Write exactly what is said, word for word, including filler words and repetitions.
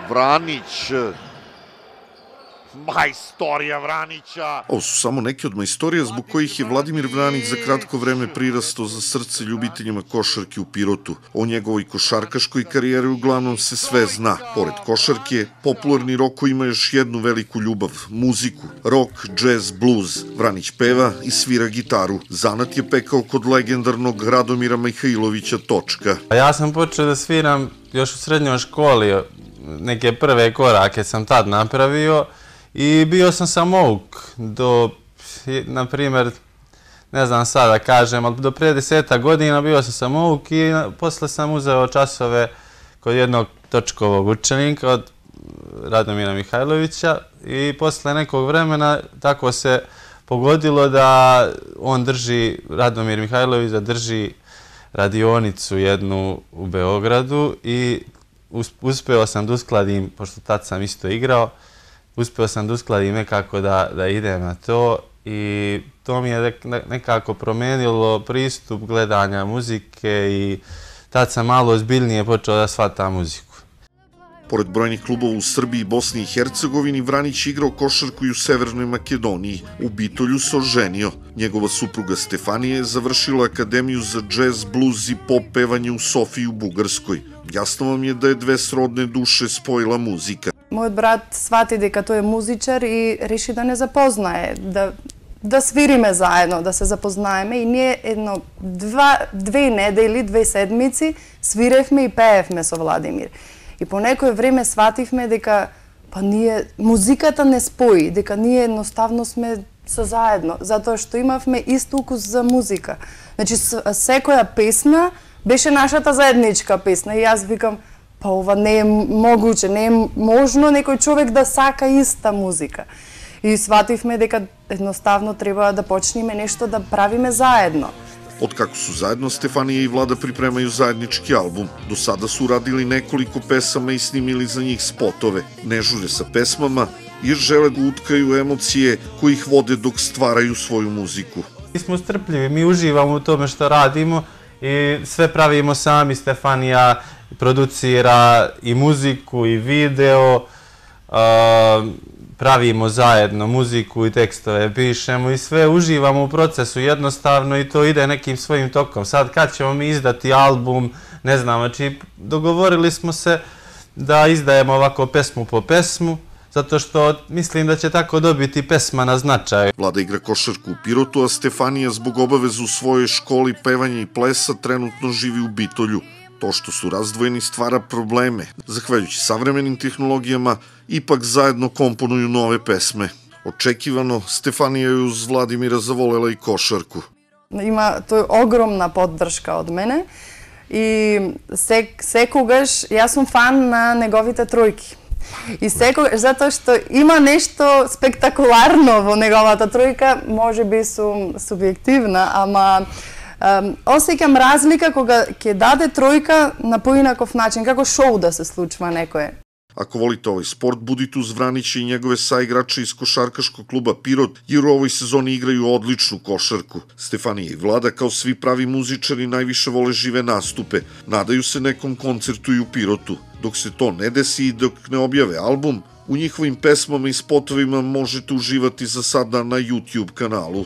Vranić. Majstorija Vranića. Ovo su samo neke od majstorija zbog kojih je Vladimir Vranić za kratko vreme prirastao za srce ljubiteljima košarke u Pirotu. O njegovoj košarkaškoj karijeri uglavnom se sve zna. Pored košarke, popularni Roko ima još jednu veliku ljubav, muziku. Rock, džez, bluz. Vranić peva i svira gitaru. Zanat je pekao kod legendarnog Radomira Mihajlovića Točka. Ja sam počeo da sviram još u srednjoj školi. Neke prve korake sam tad napravio. I bio sam samouk do, na primjer, ne znam sad da kažem, ali do prije deseta godina bio sam samouk i posle sam uzeo časove kod jednog Točkovog učenika od Radomira Mihajlovića i posle nekog vremena tako se pogodilo da on drži, Radomir Mihajlović da drži radionicu jednu u Beogradu i uspeo sam da uskladim, pošto tad sam isto igrao, uspeo sam da uskladim nekako da, da idem na to i to mi je nekako promenilo pristup gledanja muzike i tad sam malo ozbiljnije počeo da shvatam muziku. Pored brojnih klubova u Srbiji i Bosni i Hercegovini, Vranić je igrao košarku i u Severnoj Makedoniji. U Bitolju se oženio. Njegova supruga Stefanija je završila akademiju za džez, bluz i pop pevanje u Sofiji u Bugarskoj. Jasno vam je da je dve srodne duše spojila muzika. Moj brat shvati дека тој е музичар и реши да не запознае, да, да свириме заедно, да се запознаеме и ние едно, два, две недели, две седмици свиревме и пеевме со Владимир. И по некој време свативме дека па ние, музиката не спои, дека ние едноставно сме со заедно, затоа што имавме ист укус за музика. Значи, секоја песна беше нашата заедничка песна и јас викам, па ова не е могуче, не е можно некој човек да сака иста музика. И свативме дека едноставно треба да почнеме нешто да правиме заедно. Otkako su zajedno, Stefanija i Vlada pripremaju zajednički album. Do sada su uradili nekoliko pesama i snimili za njih spotove. Ne žure sa pesmama jer žele da utkaju emocije koji ih vode dok stvaraju svoju muziku. Mi smo strpljivi, mi uživamo u tome što radimo i sve pravimo sami. Stefanija producira i muziku i video, pravimo zajedno muziku i tekstove, pišemo i sve uživamo u procesu jednostavno i to ide nekim svojim tokom. Sad kad ćemo mi izdati album, ne znam, znači dogovorili smo se da izdajemo ovako pesmu po pesmu, zato što mislim da će tako dobiti pesma na značaju. Vlada igra košarku u Pirotu, a Stefanija zbog obavezu u svojoj školi pevanja i plesa trenutno živi u Bitolju. To što su razdvojeni stvara probleme. Zahvaljujući savremenim tehnologijama, ipak zajedno komponuju nove pesme. Očekivano, Stefanija je uz Vladimira zavolela i košarku. Има, тој е огромна поддршка од мене и сек, секогаш јас сум фан на неговите тројки. И секогаш, затоа што има нешто спектакуларно во неговата тројка, може би сум субјективна, ама Um, осеќам разлика кога ќе даде тројка на поинаков начин, како шоу да се случва некое. Ako volite ovaj sport, budite uz Vranića i njegove saigrače iz košarkaškog kluba Pirot, jer u ovoj sezoni igraju odličnu košarku. Stefanija i Vlada, kao svi pravi muzičari, najviše vole žive nastupe. Nadaju se nekom koncertu i u Pirotu. Dok se to ne desi i dok ne objave album, u njihovim pesmama i spotovima možete uživati za sada na YouTube kanalu.